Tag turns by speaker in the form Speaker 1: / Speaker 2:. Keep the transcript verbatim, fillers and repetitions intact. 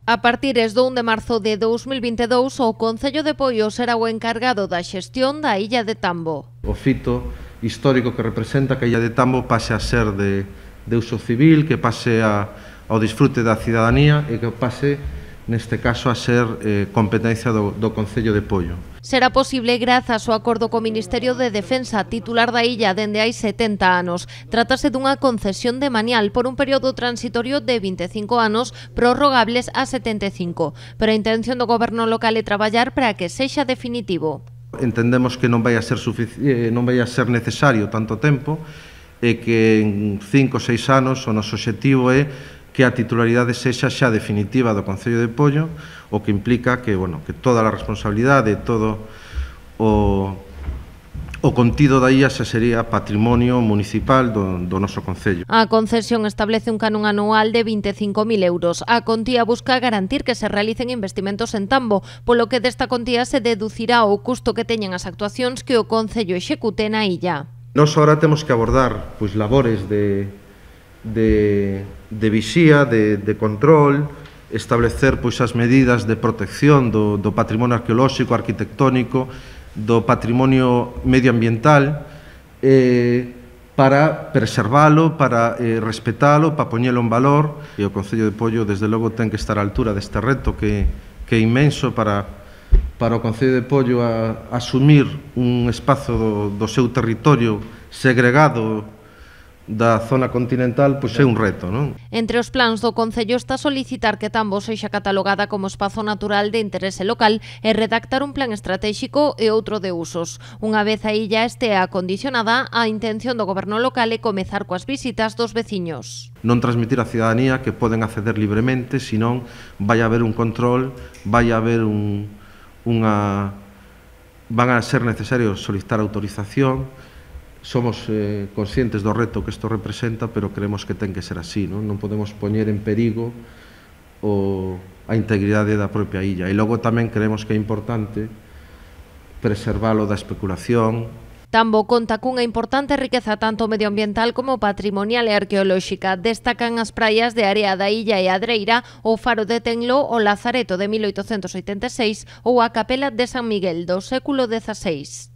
Speaker 1: A partir do un de marzo de dous mil vinte e dous, o Concello de Poio será o encargado da xestión da illa de Tambo.
Speaker 2: O fito histórico que representa que a illa de Tambo pase a ser de, de uso civil, que pase a, ao disfrute da cidadanía e que pase, neste caso, a ser eh, competencia do, do Concello de Poio.
Speaker 1: Será posible grazas ao acordo co Ministerio de Defensa, titular da illa dende hai setenta anos. Trátase dunha concesión de manial por un período transitorio de vinte e cinco anos, prorrogables a setenta e cinco. Pero a intención do goberno local é traballar para que sexa definitivo.
Speaker 2: Entendemos que non vai a ser sufici- non vai a ser necesario tanto tempo e que en cinco ou seis anos o noso obxectivo é que a titularidade sexa xa definitiva do Concello de Poio, o que implica que, bueno, que toda a responsabilidade, todo o, o contido da illa xa sería patrimonio municipal do, do noso Concello.
Speaker 1: A concesión establece un canon anual de vinte e cinco mil euros. A contía busca garantir que se realicen investimentos en Tambo, polo que desta contía se deducirá o custo que teñen as actuacións que o Concello execute na illa.
Speaker 2: Nós agora temos que abordar pois, labores de De, de vixía, de, de control, establecer pois, as medidas de protección do, do patrimonio arqueolóxico, arquitectónico, do patrimonio medioambiental, eh, para preservalo, para eh, respetalo, para poñelo en valor. E o Concello de Poio, desde logo, ten que estar á altura deste reto que, que é inmenso para, para o Concello de Poio a, a asumir un espazo do, do seu territorio segregado da zona continental, pois é un reto, non?
Speaker 1: Entre os plans do Concello está solicitar que Tambo sexa catalogada como espazo natural de interese local e redactar un plan estratégico e outro de usos. Unha vez a illa estea acondicionada, a intención do goberno local é comezar coas visitas dos veciños.
Speaker 2: Non transmitir á cidadanía que poden acceder libremente, senón vai haber un control, vai haber un, unha... van a ser necesarios solicitar autorización. Somos eh, conscientes do reto que isto representa, pero creemos que ten que ser así, non? Non podemos poñer en perigo o, a integridade da propia illa. E logo tamén creemos que é importante preservalo da especulación.
Speaker 1: Tambo conta cunha importante riqueza tanto medioambiental como patrimonial e arqueolóxica. Destacan as praias de Area da Illa e Adreira, o Faro de Tenlo, o Lazareto de mil oitocentos oitenta e seis ou a Capela de San Miguel do século dezaseis.